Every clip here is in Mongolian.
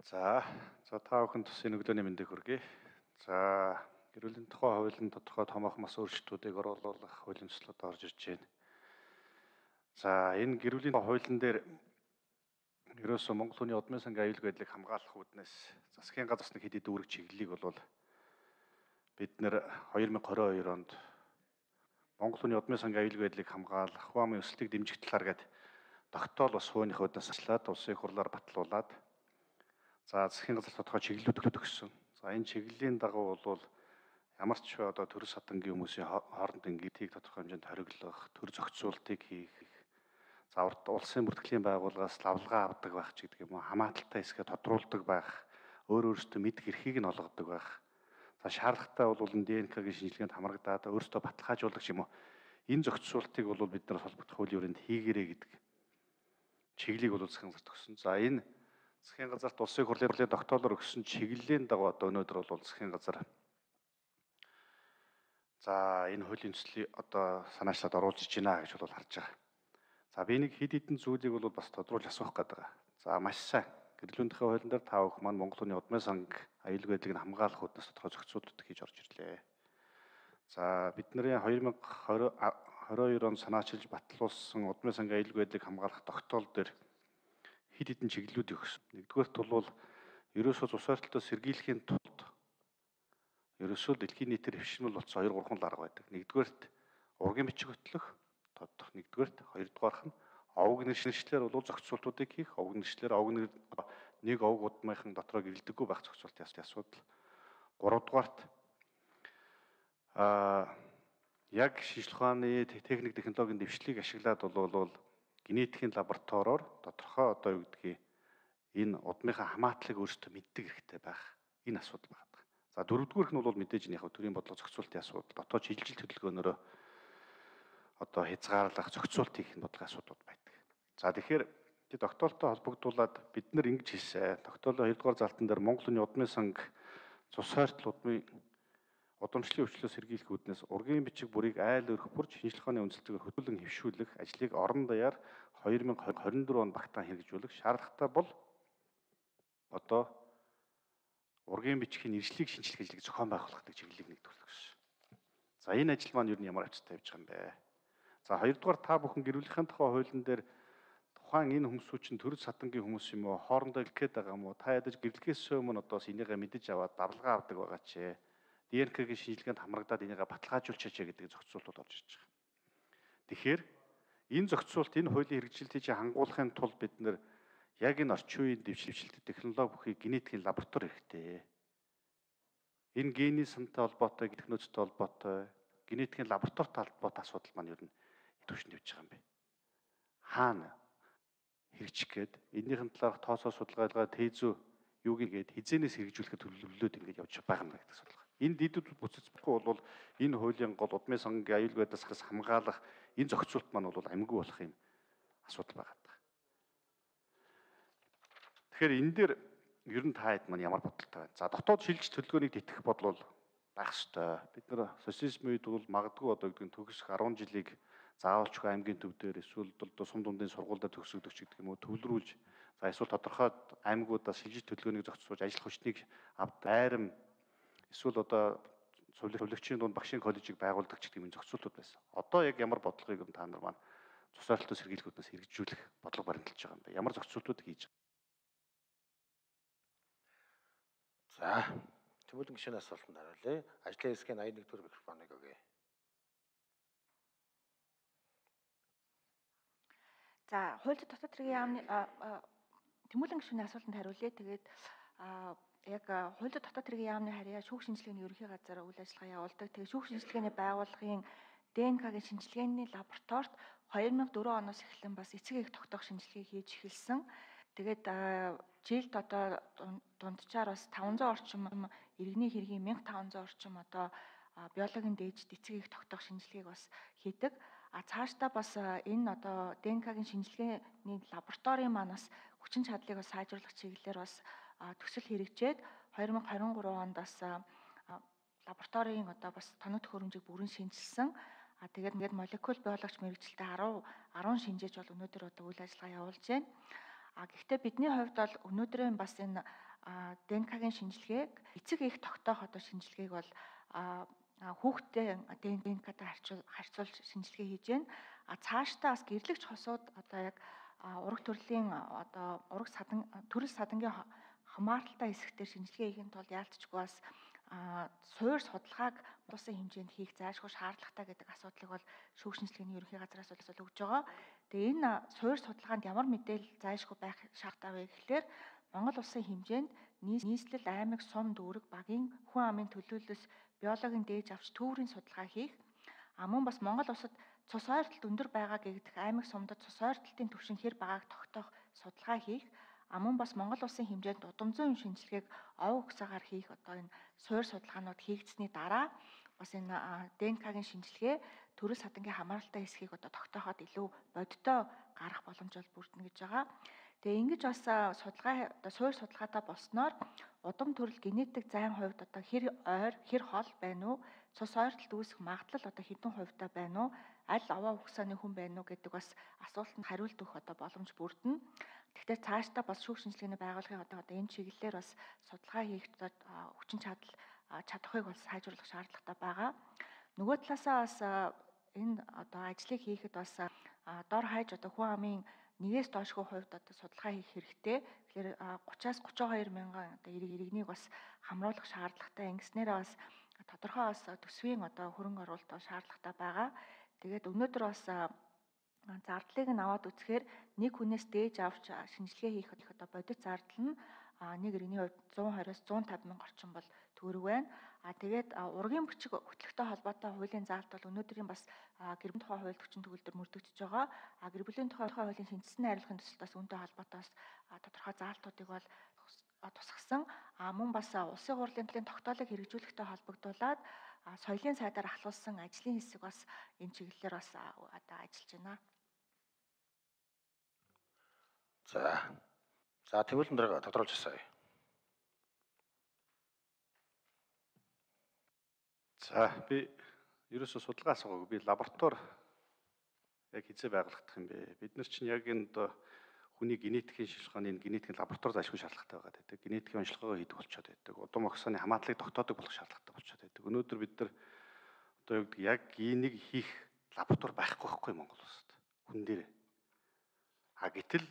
За та бүхэнд төсвийн өглөөний мэндийг хүргэе. За гэр бүлийн тухай хуулийн тодорхой томоохон мас өөрчлөлтүүдийг оруулах хуулийн төслүүд орж ирж байна. За энэ гэр бүлийн хуулийн дээр ерөөсөө Монгол хүний удмын сангийн аюулгүй байдлыг хамгаалах үүднээс засгийн газар хэд хэд үүрэг чиглэлийг бол бид нэр 2022 онд Монгол хүний удмын сангийн аюулгүй байдлыг хамгаалах Хуамын өсөлтийг дэмжих талаар гээд тогтоол бас хууны хуудаас ажиллаад улсын хурлаар батлуулаад засгийн газар тодорхой чиглэлүүд өгсөн. За энэ чиглэлийн дагуу бол ямар ч одоо төр садангийн хүмүүсийн хоорондын гидийг тодорхой хэмжээнд хориглох, төр зохицуултыг хийх, за улсын бүртгэлийн байгууллагаас лавлгаа авдаг байх ч гэдэг юм уу, хамааталтай хэсгээ тодруулдаг байх, өөрөөсөө мэдэх эрхийг нь олгодог байх. За шаардлагатай бол ДНК-гийн шинжилгээнд хамрагдаад өөрөөсөө баталгаажуулах юм уу. Энэ зохицуултыг бол бид нар холбогдох хуулийн хүрээнд хийгэрээ гэдэг чиглэлийг бол засгийн газарт өгсөн. За энэ засгийн газарт улсын хурлын тогтоолоор өгсөн чиглэлийн дагуу одоо өнөөдөр бол засгийн газар энэ хуулийн төслийг одоо санаачлаад оруулж иж байна гэж бол харж байгаа. За би нэг хэд хэдэн зүйлийг бол бас тодруулж асуух гэдэг. За маш сайн. Гэрлүүндхийн хуулийн дээр та бүхэн маань Монгол хүний удмын санг аюулгүй байдлыг хамгаалах үүднээс тодорхой зохицуултууд хийж орж ирлээ. За бидний 2022 он санаачилж батлуулсан удмын сангийн аюулгүй байдлыг хамгаалах тогтоол дээр хэд хэдэн чиглэлүүдийг өгсөн. Нэгдүгээрт бол ерөөсөө цус ойртолтоос сэргийлэхийн тулд ерөөсөө дэлхийн нийтээр хэвшмэл болсон 2-3 арга байдаг. Нэгдүгээрт ургийн бичиг хөтлөх тодох. Нэгдүгээрт хоёрдугаарх нь овог нэршлэлээр бол зохицуултуудыг хийх. Овог нэршлэлээр нэг овог удмынхан дотроо гэрэлдэггүй байх зохицуултын асуудал. Гуравдугаарт яг шинжлэх ухааны техник технологийн дэвшлиг ашиглаад бол генетикийн лабораториор тодорхой одоо юу гэдгийг энэ удмынхаа хамаатлыг өөрсдөө мэддэг хэрэгтэй байх. Энэ асуудал байна. За дөрөвдүгüүрх нь бол мэдээж нь яг төрийн бодлого зохицуултын асуудал, дотоод шилжилт хөдөлгөөнөөрөө одоо хязгаарлах, зохицуулт хийх бодлогын асуудал байдаг. За тэгэхээр тогтоолтой холбогдуулаад бид нар ингэж хэлсэн. Тогтоолын 2-р залтан дээр Монголын удмын санг цус ойртол удамшлын өвчлөөс сэргийлэх үүднээс ургийн бичиг бүрийг айл өрх бүрж шинжлэх ухааны үндэслэлээр хөтөлбөн хэвшүүлэх ажлыг орон даяар 2024 онд багтаан хэрэгжүүлэх шаардлагатай бол одоо ургийн бичгийн иржлийг шинжлэх ажлыг зохион байгуулах гэдэг чиглэлийг нэгдүгээр өгсөн. За энэ ажил маань юу ямар авцтай явж байгаа юм бэ? За хоёрдугаар та бүхэн гэр бүлийнхээ тухай хуулийн дээр тухайн энэ хүмүүсүүд чинь төр садангийн хүмүүс юм уу? Хоорондоо илгээд байгаа юм уу? Та ядаж гэрлэхээс өмнө одоо энийгээ мэдэж аваад давлгаа авдаг байгаа ч ДНК-гийн шинжилгээнд хамрагдаад энийгээ баталгаажуулчаач гэдэг зохицуултууд орж ирж байгаа. Тэгэхээр энэ зохицуулт энэ хуулийн хэрэгжилтийг хангуулахын тулд бид нэр яг энэ орчин үеийн дэвшилт технологи бүхий генетикийн лаборатори хэрэгтэй. Энэ гений сантай холбоотой, технологитой холбоотой, генетикийн лабораторитой холбоотой асуудал маань ер нь төвшөнд явж байгаа юм бэ. Хаана хэрэгжих гээд энэний талаарх тооцоо судалгаа тезүү юуг гээд хизээнээс хэрэгжүүлэхэд төлөвлөлөөд ингэж явж байгаа юм гэдэг асуудал. Энэ дэдүүд бүцэцбэхгүй бол энэ хуулийн гол удмын сангийн аюулгүй байдлаас хамгаалах энэ зохицуулт маань бол амгүй болох юм асуудал байгаа. Тэгэхээр энэ дээр ер нь та хэд маань ямар бодолтой байна? За дотоод шилжилт төлөвлөгөөнийг тэтгэх бодлол байх ёстой. Бид нар социализм үед бол магадгүй одоо гэдэг нь төгсөх 10 жилийг заавалчгүй аймгийн төв дээр эсвэл одоо сум дундын сургуультай төгсөгдөг ч гэдэг юм уу төвлөрүүлж за эсвэл тодорхой аймагуудаас шилжилт төлөвлөгөөнийг зохицуулж ажил хүчнийг айрам эсвэл одоо цуврагчийн дунд багшийн коллежийг байгуулдаг ч гэдэг юм зохицуултууд байсан. Одоо яг ямар бодлогыг та нар маань цус ойртолтоос сэргийлэхүүднээс хэрэгжүүлэх бодлого баримталж байгаа юм бэ? Ямар зохицуултууд хийж байгаа? За, тэмүүлэн гишүүний асуултанд хариулъя. Ажлын хэсгийн 81-р микрофоныг өгье. За, хууль дотоод хэргийн яамны тэмүүлэн гишүүний асуултанд хариулъя. Тэгээд яг хууль дотоод хэргийн яамны харьяа шүүх шинжилгээний ерөнхий газар үйл ажиллагаа явуулдаг. Тэгээд шүүх шинжилгээний байгууллагын ДНК-гийн шинжилгээний лабораторид 2004 оноос эхлэн бас эцэг эх тогтоох шинжилгээ хийж эхэлсэн. Тэгээд жилд одоо дунджаар бас 500 орчим иргэний хэргийн 1500 орчим одоо биологийн дээжд эцэг эх тогтоох шинжилгээг бас хийдэг. Цаашдаа бас энэ одоо ДНК-гийн шинжилгээний лабораторийн манаас хүчин чадлыг бас сайжруулах чиглэлээр бас төсөл хэрэгжээд 2023 онд бас лабораторийн одоо бас тоног төхөөрөмжийг бүрэн шинжилсэн. Тэгээд молекул биологч мэрэгчлээ 10 шинжээж бол өнөөдөр одоо үйл ажиллагаа явуулж байна. Гэхдээ бидний хувьд бол өнөөдрийн бас энэ ДНК-гийн шинжилгээг эцэг их тогтоох одоо шинжилгээг бол хүүхдээ ДНК-тай харьцуулж шинжилгээ хийж байна. Цаашдаа бас гэрлэгч хосууд одоо яг ураг төрлийн одоо төрөл садангийн хамааралтай хэсэгтэр шинжилгээ хийхин тулд яалтчгүй бас суур судалгааг улсын хэмжээнд хийх зайлшгүй шаардлагатай гэдэг асуудлыг бол шүүх шинжилгээний ерөнхий газраас бол өгж байгаа. Тэгээ энэ суур судалгаанд ямар мэдээлэл зайлшгүй байх шаардлагатай вэ гэхлээр Монгол улсын хэмжээнд нийслэл, аймаг, сум, дүүрэг, багийн хүн амын төлөөлөл, биологийн дээж авч төвөрийн судалгаа хийх. Мөн бас Монгол улсад цус ойртолт өндөр байгаа гэгдэх аймаг сумдад цус ойртолтын түвшин хэр байгааг тогтоох судалгаа хийх. Мөн бас Монгол улсын хэмжээнд удамзын шинжилгээг овог усаагаар хийх одоо энэ суур судалгаанууд хийгдсэний дараа бас энэ ДНК-гийн шинжилгээ төрөл садангийн хамааралтай хэсгийг одоо тогтооход илүү бодиттой гарах боломж бол бүрдэнэ гэж байгаа. Тэгээ ингэж бас судалгаа одоо суур судалгаатай болсноор удам төрөл генетик зайн хувьд одоо хэр ойр, хэр хол байна уу? Цус ойртолт үүсэх магадлал одоо хэдэн хувьтай байна уу? Аль овоо хугацааны хүн байна уу гэдэг бас асуултанд хариулт өгөх одоо боломж бүрдэнэ. Тэгэхээр цаашдаа бас шүүх шинжилгээний байгууллагын одоо энэ чиглэлээр бас судалгаа хийх хүчин чадахыг бас сайжруулах шаардлагатай байгаа. Нөгөө талаасаа бас энэ одоо ажлыг хийхэд бас дор хаяж одоо хүн амын 1-ээс доошгүй хувьд одоо судалгаа хийх хэрэгтэй. Тэгэхээр 30-аас 32 мянган одоо иргэнийг бас хамруулах шаардлагатай. Ингэснээрээ бас тодорхой бас төсвийн одоо хөрөнгө оруулалт шаардлагатай байгаа. Тэгээд өнөөдөр бас зардлыг нь аваад үзэхээр нэг хүнээс дээж авч шинжилгээ хийх одоо бодит зардал нь нэг иргэний хувьд 120-аас 150 мянга орчим бол төгрөг байна. Тэгээд ургийн бичиг хөтлөлтөй холбоотой хуулийн заалт бол өнөөдрийн бас гэр бүлийн тухай хууль 40 төгөлдөр мөрдөгдөж байгаа. Гэр бүлийн тухай хуулийн шинжилсэн найруулгын төсөлтөөс үүнтэй холбоотой бас тодорхой заалтуудыг бол тусгасан. Мөн бас улсын хурлын тогтоолыг хэрэгжүүлэхтэй холбогдуулаад соёлын сайдаар ахлуулсан ажлын хэсэг бас энэ чиглэлээр бас одоо ажиллаж байна. За тэмүүлэн дээр тодруулж асууя. За би ерөөсөө судалгаа асуугаагүй. Би лаборатори яг хизээ байгуулагдах юм бэ? Бид нар чинь яг энэ хүний генетикийн шилжихааны энэ генетикийн лаборатори зайлшгүй шаардлагатай байгаа гэдэг. Генетикийн онцлогоо хийдэг болчиход байдаг. Удам огсооны хамаатлыг тогтоодог болох шаардлагатай болчиход байдаг. Өнөөдөр бид нар одоо юу гэдэг яг генийг хийх лаборатори байхгүй Монгол улсад. Хүн дээр. Гэтэл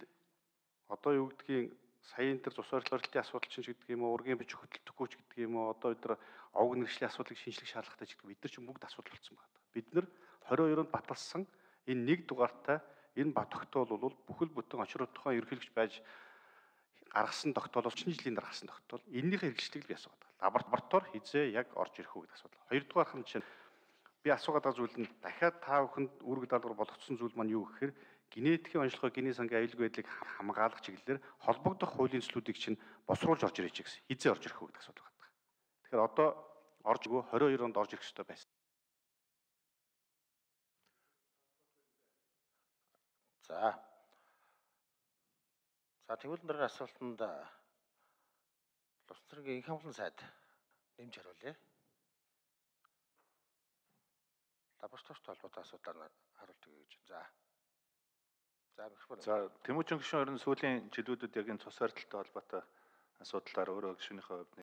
одоо юу гэдгийг саяын тэр цус ойртолтын асуудал чинь гэдэг юм уу, ургийн бичиг хөтөлбөргүй ч гэдэг юм уу, одоо өдөр овг нэршлийн асуудлыг шинжлэх шаардлагатай ч гэдэг бид нар чинь бүгд асуудал болсон байна. Бид нар 22-нд баталсан энэ нэг дугаартай энэ тогтоол бол бүхэл бүтэн очрууд тухайн ерөнхийлөгч байж гаргасан тогтоол бол чиний жилийн дараа гаргасан тогтоол. Эннийхээ хэрэгжлийг би асуугаад байна. Лаборатори хизээ яг орж ирэх үү гэдэг асуудал. Хоёрдугаарх нь чинь би асуугаад байгаа зүйл нь дахиад та бүхэнд үүрэг даалгавар болгоцсон зүйл маань юу гэхээр генетикийн онцлогоо генийн сангийн аюулгүй байдлыг хамгаалах чиглэлээр холбогдох хуулийн зүйлүүдийг чинь босруулж орж ирэж гэсэн. Хизээ орж ирэх үү гэдэг асуудал байна. Тэгэхээр одоо орж өгөө 22 онд орж ирэх ёстой байсан. За тэмүүлэн дээр асуултанд Улс төрийн инх хамгаалалтын сайд нэмж хариулъя. Лабораторитой холбоотой асуудлаар хариулт өгье гэж. За Тэмүүжин гишүүн ерөн сүүлийн жилүүдэд яг энэ цус ойртолтой холбоотой асуудлаар өөрөө гишүүнийхээ хувьд